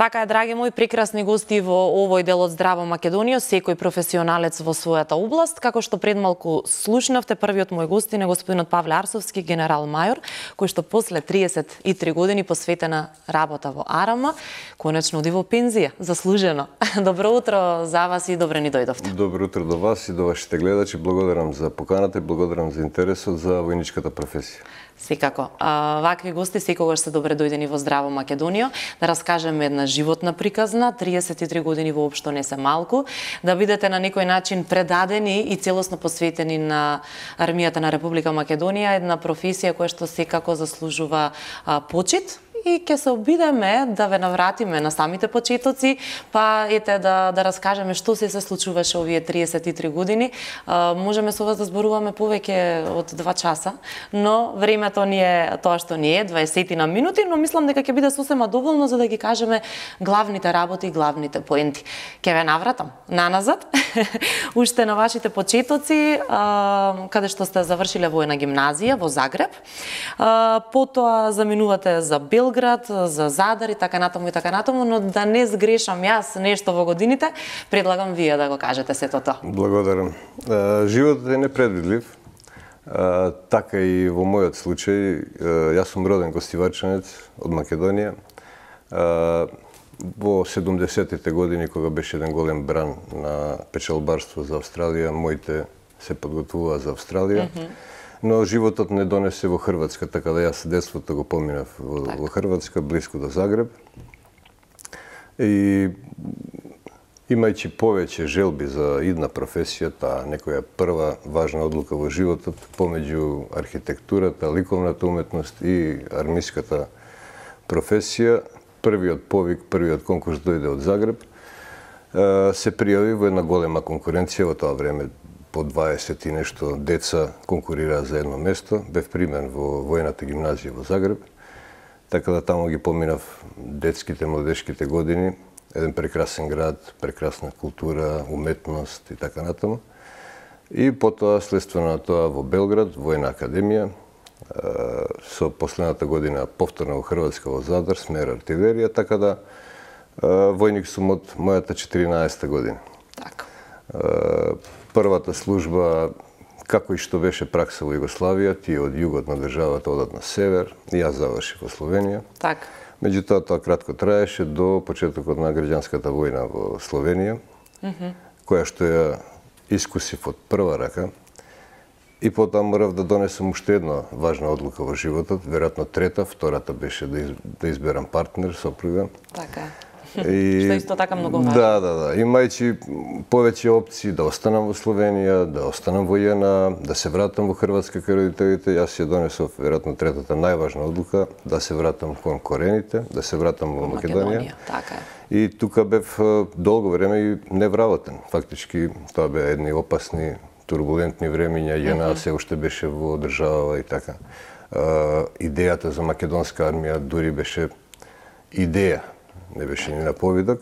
Така е, драги мои прекрасни гости во овој дел од Здраво Македонија, секој професионалец во својата област. Како што пред малку слушнавте, првиот мој гостин е господинот Павле Арсовски, генерал-мајор, кој што после 33 години посветена работа во Арама, конечно оди во пензија, заслужено. Добро утро за вас и добре ни дојдовте. Добро утро до вас и до вашите гледачи. Благодарам за поканата и благодарам за интересот за војничката професија. Секако. Вакви гости секогаш се добре дојдени во Здраво Македонија, да раскажеме една животна приказна, 33 години воопшто не се малку, да бидете на некој начин предадени и целосно посветени на армијата на Република Македонија, една професија која што секако заслужува почит. И ќе се обидеме да ве навратиме на самите почетоци, па ете да раскажеме што се случуваше овие 33 години. Можеме со вас да зборуваме повеќе од 2 часа, но времето ни е тоа што ни е, 20 на минути, но мислам дека ќе биде сосема доволно за да ги кажеме главните работи и главните поенти. Ќе ве навратам наназад, уште на вашите почетоци, каде што сте завршиле војна гимназија во Загреб, потоа заминувате за Белград, за Задар и така натаму, но да не сгрешам јас нешто во годините, предлагам вие да го кажете сето тоа. Благодарам. Животот е непредвидлив. Така и во мојот случај, јас сум роден гостиварчанец од Македонија. Во 70-тите години, кога беше еден голем бран на печалбарство за Австралија, моите се подготвуваа за Австралија. Но животот не донесе во Хрватска, така да јас детството го поминав во Хрватска, близко до Загреб. И имајќи повеќе желби за идна професија, таа некоја прва важна одлука во животот помеѓу архитектурата, ликовната уметност и армиската професија, првиот повик, првиот конкурс дојде од Загреб. Се пријави во една голема конкуренција во тоа време. По 20 и нешто деца конкурираа за едно место. Бев примен во војната гимназија во Загреб. Така да таму ги поминав детските, младешките години. Еден прекрасен град, прекрасна култура, уметност и така натаму. И потоа, следствено на тоа, во Белград, војна академија. Со последната година повторно во Хрватска, во Задар, смер артилерија, така да војник сум од мојата 14-та година. Така. Првата служба, како и што беше пракса во Југославија, тие од југот на државата одат на север, и јас завршив во Словенија. Така. Меѓутоа, тоа кратко траеше до почетокот на граѓанската војна во Словенија, која што ја искусив од прва рака. И потоа морав да донесам уште една важна одлука во животот, веројатно трета, втората беше да изберам партнер, сопруга. Така. Што исто така многу важно. Да. Имајќи повеќе опции да останам во Словенија, да останам во ЈНА, да се вратам во Хрватска кај родителите, јас ја донесов веројатно третата најважна одлука, да се вратам кон корените, да се вратам во Македонија. Така е. И тука бев долго време и невработен. Фактички тоа беа едни опасни, турбулентни времиња, ЈНА се уште беше во држава и така. Идејата за македонска армија дури беше идеја, не беше ни на повидок,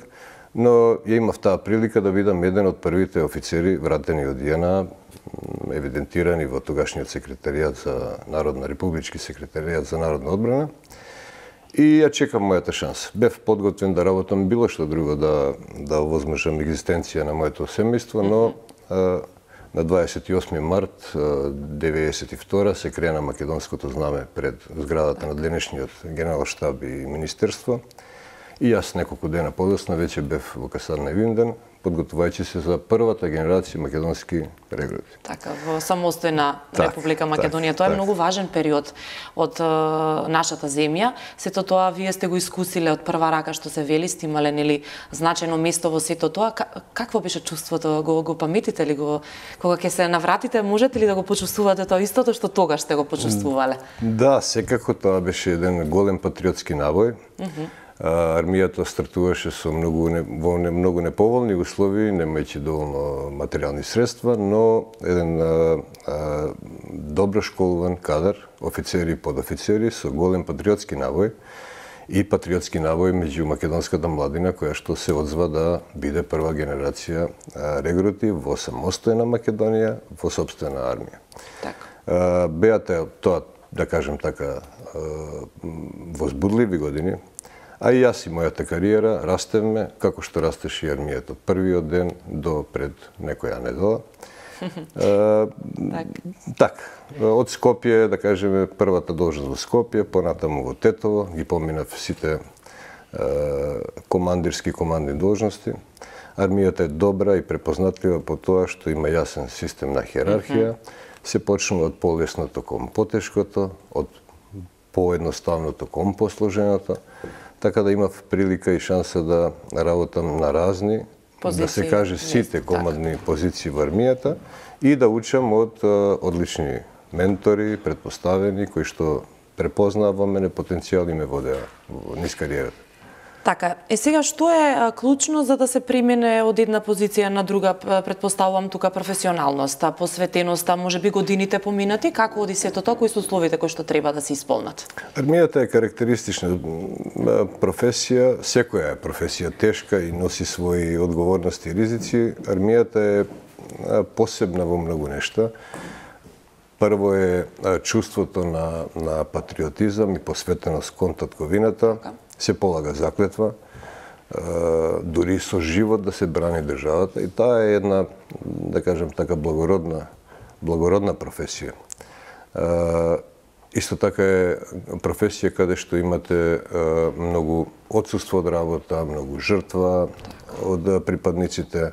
но ја имав таа прилика да бидам еден од првите офицери вратени од ЈНА, евидентирани во тогашниот секретаријат за Народна републички секретаријат за народна одбрана. И ја чекам мојата шанса. Бев подготвен да работам било што друго, да овозможам екзистенција на моето семејство, но на 28 март 1992 се крена македонското знаме пред зградата на денешниот генерал-штаб и министерство. И јас неколку дена подоцна веќе бев во касарна Винден, подготвувајќи се за првата генерација македонски регрути. Така, во самостојна Република Македонија. Тоа е многу важен период од нашата земја. Сето тоа вие сте го искусиле од прва рака, што се вели, сте имале нели значајно место во сето тоа. Какво беше чувството? Го паметите ли го? Кога ќе се навратите, можете ли да го почувствувате тоа истото што тогаш сте го почувствувале? Да, секако тоа беше еден голем патриотски набој. Армијата стартуваше со во многу неповолни услови, немајќи доволно материјални средства, но еден добро школуван кадар, офицери и подофицери со голем патриотски набој и патриотски набој меѓу македонската младина која што се одзва да биде прва генерација регрути во самостојна Македонија, во сопствена армија. Така. Беа тоа, да кажем така, возбудливи години. А и јас и мојата кариера растевме како што растеше и армијата од првиот ден до пред некоја недела. Така, од Скопје, да кажеме, првата должност во Скопје, понатаму во Тетово, ги поминав сите командни должности. Армијата е добра и препознатлива по тоа што има јасен систем на хиерархија. Се почнува од полесното кон потешкото, од поедноставното кон посложеното, така да имав прилика и шанса да работам на разни, позиции, да се каже сите командни позиции во армијата и да учам од одлични ментори, предпоставени, кои што препознаа во мене потенцијал и ме водеа низ кариерата. Така, сега што е клучно за да се премине од една позиција на друга, предпоставувам тука професионалноста, посветеноста, можеби годините поминати, како оди сето тоа, кои се условите кои што треба да се исполнат? Армијата е карактеристична професија, секоја е професија тешка и носи своји одговорности и ризици. Армијата е посебна во многу нешта. Прво е чувството на патриотизам и посветеност кон татковината. Се полага заклетва, дури со живот да се брани државата, и таа е една, да кажем така, благородна професија. Исто така е професија каде што имате многу отсуство од работа, многу жртва од припадниците,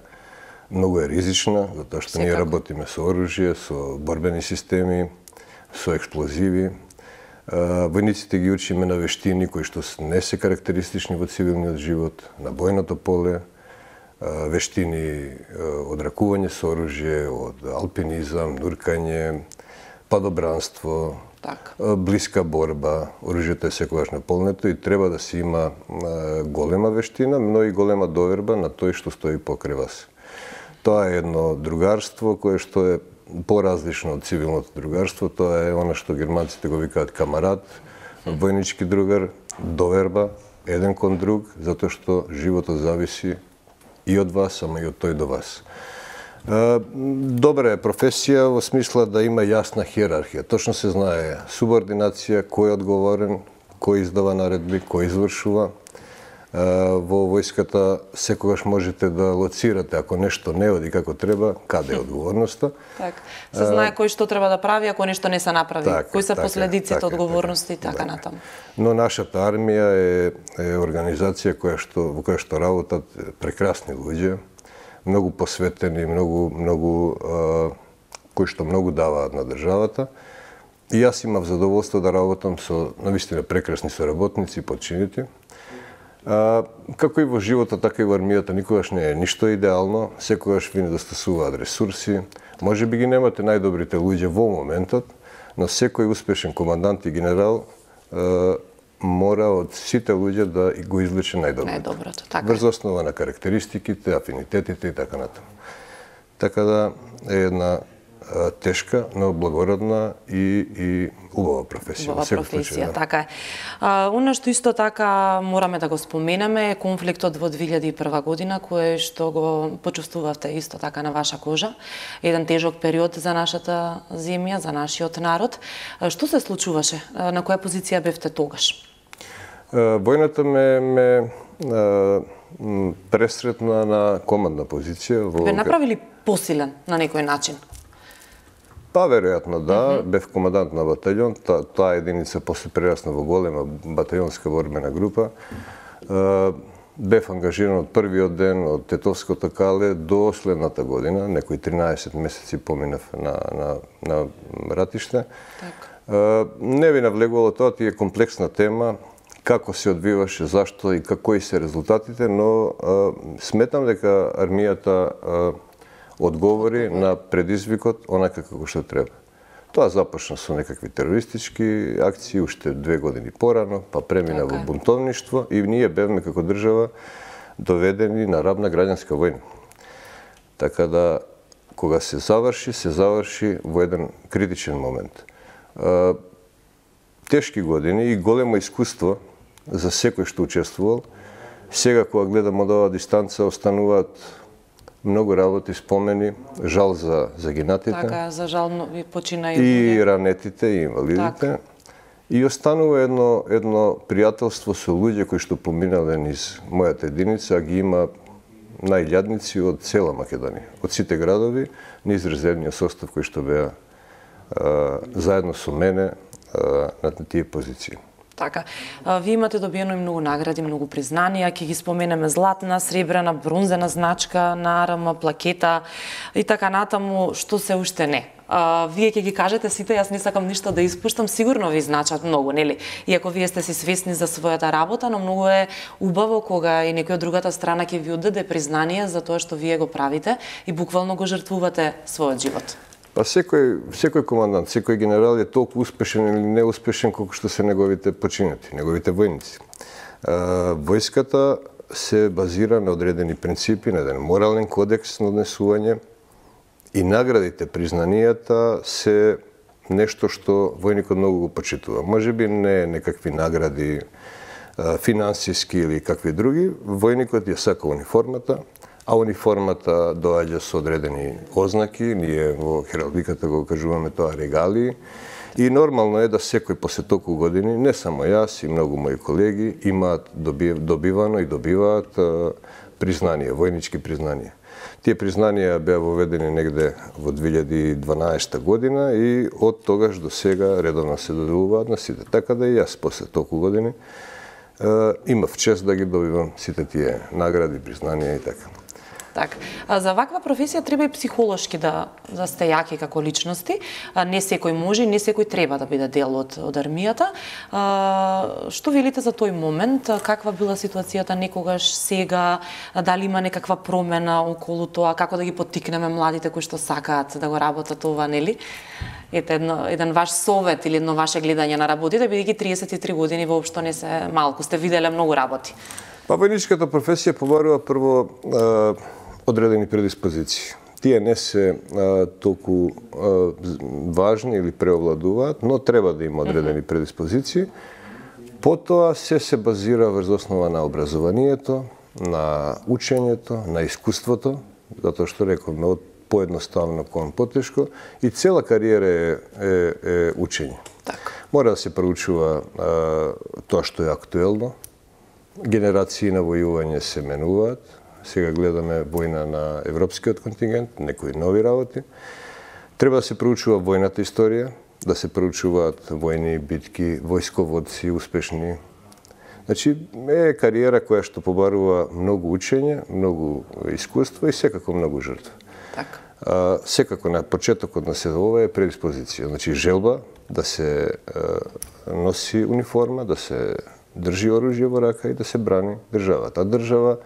многу е ризична, затоа што ние работиме со оружје, со борбени системи, со експлозиви. Војниците ги учиме на вештини кои што не се карактеристични во цивилниот живот, на бојното поле, вештини од ракување со оружје, од алпинизам, нуркање, падобранство, блиска борба. Оружјето е секогаш наполнето и треба да се има голема вештина, но и голема доверба на тој што стои покрај вас. Тоа е едно другарство кое што е поразлично од цивилното другарство, тоа е она што германците го викаат камарат, војнички другар, доверба, еден кон друг, затоа што животот зависи и од вас, ама и од тој до вас. Добра е професија во смисла да има јасна хиерархија. Точно се знае субординација, кој е одговорен, кој издава наредби, кој извршува. Во војската секогаш можете да лоцирате ако нешто не оди како треба, каде е одговорноста. Така. Се знае кој што треба да прави ако нешто не се направи, кои се последиците, одговорности и така натаму. Но нашата армија е организација во која што работат прекрасни луѓе, многу посветени, многу кои што многу даваат на државата. И јас имав задоволство да работам со навистина прекрасни соработници и подчинити. Како и во животот, така и во армијата никогаш не е ништо идеално, секогаш ви недостасуваат ресурси. Може би ги немате најдобрите луѓе во моментот, но секој успешен командант и генерал мора од сите луѓе да го извлече најдоброто. Врз основа на карактеристиките, афинитетите и така натаму. Така да е една тешка, но благородна и убава професија. Убава професија, така е. Оно што исто така мораме да го споменеме е конфликтот во 2001 година, кој што го почувствувавте исто така на ваша кожа. Еден тежок период за нашата земја, за нашиот народ. Што се случуваше? На која позиција бевте тогаш? Војната ме пресретна на командна позиција. Бе направили посилен на некој начин? Па, веројатно да, бев командант на батальон, таа единица после прерасна во голема батальонска борбена група. Бев ангажиран од првиот ден од Тетовското кале до следната година, некои 13 месеци поминав на ратиште. Не ви навлегувало тоа, тие комплексна тема, како се одвиваше, зашто и кои се резултатите, но сметам дека армијата одговори на предизвикот онака како што треба. Тоа започна со некакви терористички акции уште 2 години порано, па премина во бунтовништво и ние бевме како држава доведени на рабна граѓанска војна. Така да, кога се заврши во еден критичен момент. Тешки години и големо искуство за секој што учествувал. Сега, кога гледам од оваа дистанца, остануваат многу работи, спомени, жал за загинатите. Така, за жал почина и ранетите, и инвалидите. И останува едно пријателство со луѓе кои што поминале низ мојата единица, а ги има најљадници од цела Македонија, од сите градови, низ резервниот состав кој што беа заедно со мене на тие позиции. Така, вие имате добиено и многу награди, многу признанија, ќе ги споменеме златна, сребрена, бронзена значка, нарама, плакета и така натаму, што се уште не. Вие ќе ги кажете сите, јас не сакам ништо да испуштам, сигурно ви значат многу, нели? Иако вие сте си свесни за својата работа, но многу е убаво кога и некој од другата страна ќе ви отдаде признание за тоа што вие го правите и буквално го жртвувате својот живот. Па секој командант, секој генерал е толку успешен или неуспешен колку што се неговите починати, неговите војници. Војската се базира на одредени принципи, на еден морален кодекс на однесување и наградите, признанијата се нешто што војникот многу го почитува. Можеби не некакви награди финансиски или какви други, војникот ја сака униформата, а униформата доаѓа со одредени ознаки, ние во хералдиката го кажуваме тоа регалии, и нормално е да секој после толку години, не само јас и многу мои колеги, имаат добивано и добиваат признанија, војнички признанија. Тие признанија беа воведени негде во 2012 година и од тогаш до сега редовно се доделуваат на сите. Така да и јас после толку години имав чест да ги добивам сите тие награди, признанија и така. Так, за ваква професија треба и психолошки да сте јаки како личности. Не секој може, не секој треба да биде дел од армијата. Што велите за тој момент? Каква била ситуацијата некогаш, сега? Дали има некаква промена околу тоа? Како да ги поттикнеме младите кои што сакаат да го работат ова, нели? Ете еден ваш совет или едно ваше гледање на работите, бидејќи 33 години воопшто не се малку, сте виделе многу работи. Па војничката професија побарува прво одредени предиспозиции. Тие не се толку важни или преовладуваат, но треба да има одредени предиспозиции. Потоа се базира врз основа на образованието, на учењето, на искуството, затоа што рековме од поедноставно кон потешко, и цела кариера е учење. Мора да се проучува тоа што е актуелно. Генерации на војување се менуваат. Сега гледаме војна на европскиот контингент, некои нови работи. Треба да се проучува војната историја, да се проучуваат војни битки, војсководци успешни. Значи, е кариера која што побарува многу учење, многу искуство и секако многу жртва. Секако на почетокот на се ова е предиспозиција. Значи, желба да се носи униформа, да се држи оружје во рака и да се брани државата. А држава,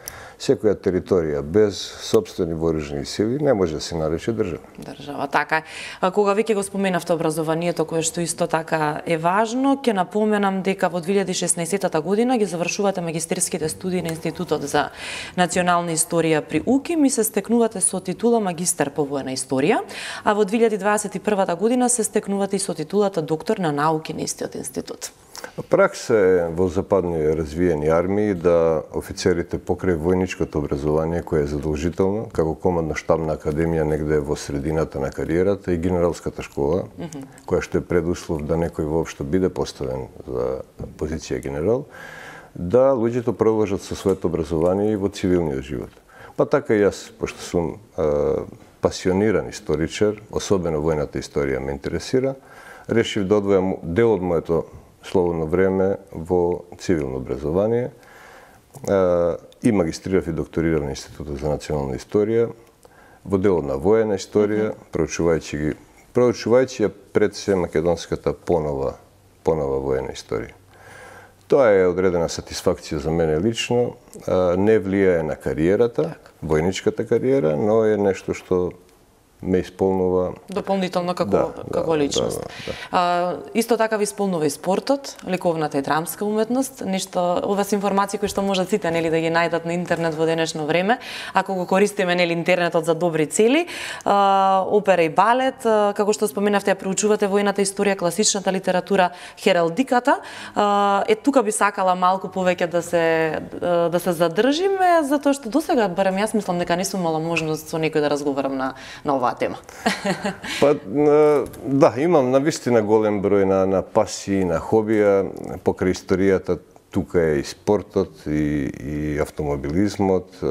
секоја територија без сопствени вооружени сили не може да се нарече држава. Држава, така е. Кога веќе го споменавте образованието, кое што исто така е важно, ќе напоменам дека во 2016 година ги завршувате магистерските студии на Институтот за национална историја при УКИМ и се стекнувате со титула магистер по воена историја, а во 2021 година се стекнувате и со титулата доктор на науки на истиот институт. Пракса е во западни развиени армии да офицерите покрај војничкото образование, кое е задолжително, како командно-штабна академија негде во средината на кариерата, и генералската школа, која што е предуслов да некој воопшто биде поставен за позиција генерал, да луѓето продолжат со своето образование и во цивилниот живот. Па така и јас, пошто сум пасиониран историчар, особено војната историја ме интересира, решив да одвојам дел од моето слободно време во цивилно образование и магистрирав и докторирав на Институтот за национална историја, во делот на воена историја, проучувајќи ја пред се македонската понова воена историја. Тоа е одредена сатисфакција за мене лично, не влијае на кариерата, војничката кариера, но е нешто што ме исполнува дополнително како личност. Исто така ви исполнува и спортот, ликовната и драмска уметност, нешто ова се информации кои што можат сите нели да ги најдат на интернет во денешно време, ако го користиме нели интернетот за добри цели. Опера и балет, како што споменавте, ја проучувате војната историја, класичната литература, хералдиката. Тука би сакала малку повеќе да се задржиме, затоа што досега барем јас мислам дека не сум имала можност со некој да разговарам на ова оваа тема? Па, да, имам навистина голем број на пасии, на хобија, покрај историјата. Тука е и спортот, и автомобилизмот,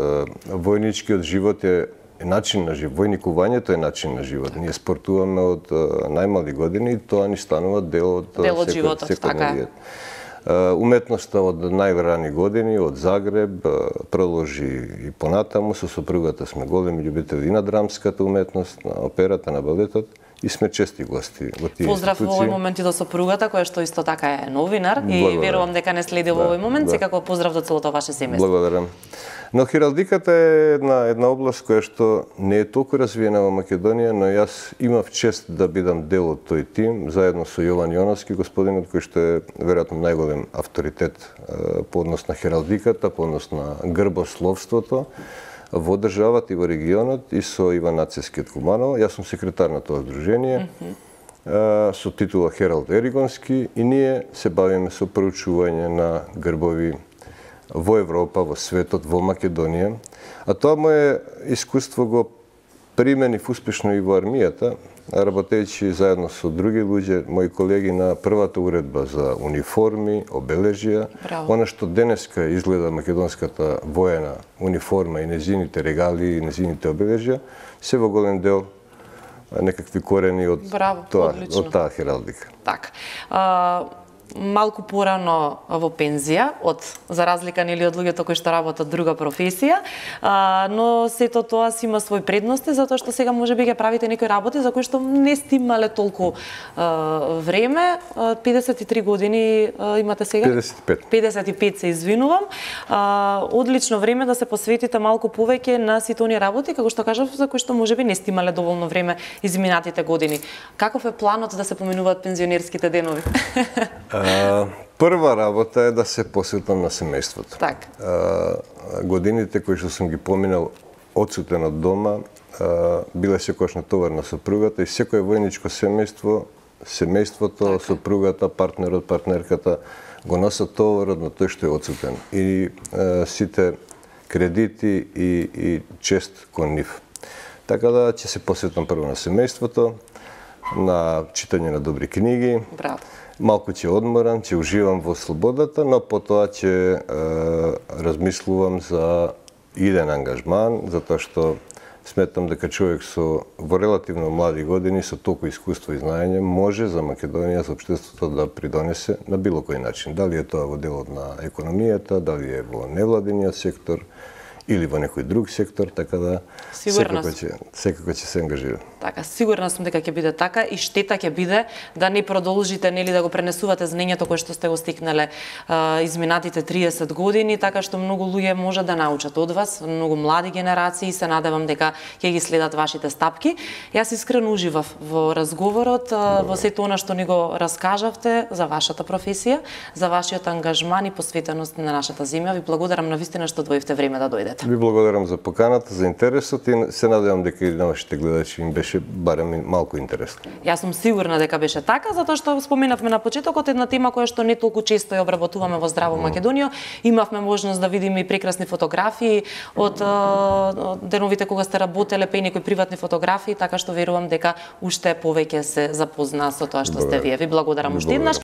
војничкиот живот е начин на живот. Војникувањето е начин на живот. Ние спортуваме од најмали години и тоа ни станува дел од животот, така. Уметноста од најрани години, од Загреб, продолжи и понатаму. Со сопругата сме големи љубители на драмската уметност, на операта, на балетот. И сме чести гости во тие Поздрав институции. во овој момент и до сопругата, која што исто така е новинар и верувам дека не следи во овој момент. Секако поздрав до целото ваше семејство. Благодарам. Но хералдиката е една област која што не е толку развиена во Македонија, но јас имав чест да бидам дел од тој тим, заедно со Јован Јоновски, господинот кој што е веројатно најголем авторитет по однос на хералдиката, по однос на грбословството во државата и во регионот, и со Иван Нацевски од Куманово. Јас сум секретар на тоа здружение, со титула Хералд Еригонски, и ние се бавиме со проучување на грбови во Европа, во светот, во Македонија. А тоа моје искуство го применив успешно и во армијата, работејќи заедно со други луѓе, мои колеги, на првата уредба за униформи, обележја. Она што денеска изгледа македонската воена униформа и незините регалии и незините обележја, се во голем дел некакви корени од таа хералдика. Так. Малку порано во пензија, за разлика нели од луѓето кои што работат друга професија, но сето тоа си има свој предности, затоа што сега можеби ќе правите некои работи за кои што не сте имале толку време. 53 години имате сега? 55. 55 се извинувам. Одлично време да се посветите малку повеќе на сите оние работи, како што кажав, за кои што можеби не сте имале доволно време изминатите години. Каков е планот да се поминуваат пензионерските денови? Прва работа е да се посветам на семејството. Так. Годините кои што сум ги поминал одсутен од дома, биле секогаш натовар на сопругата, и секое војничко семејството, сопругата, партнерот, партнерката го носат товарот на тој што е одсутен. И сите кредити и чест кон нив. Така да ќе се посветам прво на семејството, на читање на добри книги. Браво. Малку ќе одморам, ќе уживам во слободата, но потоа ќе размислувам за иден ангажман, затоа што сметам дека човек во релативно млади години, со толку искуство и знаење, може за Македонија, за општеството да придонесе на било кој начин. Дали е тоа во делот на економијата, дали е во невладиниот сектор, или во некој друг сектор, така да секако ќе се ангажирам. Така, сигурна сум дека ќе биде така, и штета ќе биде да не продолжите нели да го пренесувате знаењето кое што сте го стекнале изминатите 30 години, така што многу луѓе може да научат од вас, многу млади генерации, се надевам дека ќе ги следат вашите стапки. Јас искрено уживав во разговорот, во сето она што ни го раскажавте за вашата професија, за вашиот ангажман и посветеност на нашата земја. Ви благодарам навистина што дојдовте време да дојдете. Ви благодарам за поканата, за интересот, и се надевам дека и на вашите гледачи им беше барем малку интересно. Јас сум сигурна дека беше така, затоа што споменавме на почетокот една тема која што не толку често ја обработуваме во Здраво Македонија. Имавме можност да видиме и прекрасни фотографии од деновите кога сте работеле, па и некои приватни фотографии, така што верувам дека уште повеќе се запозна со тоа што сте вие. Ви благодарам уште еднаш.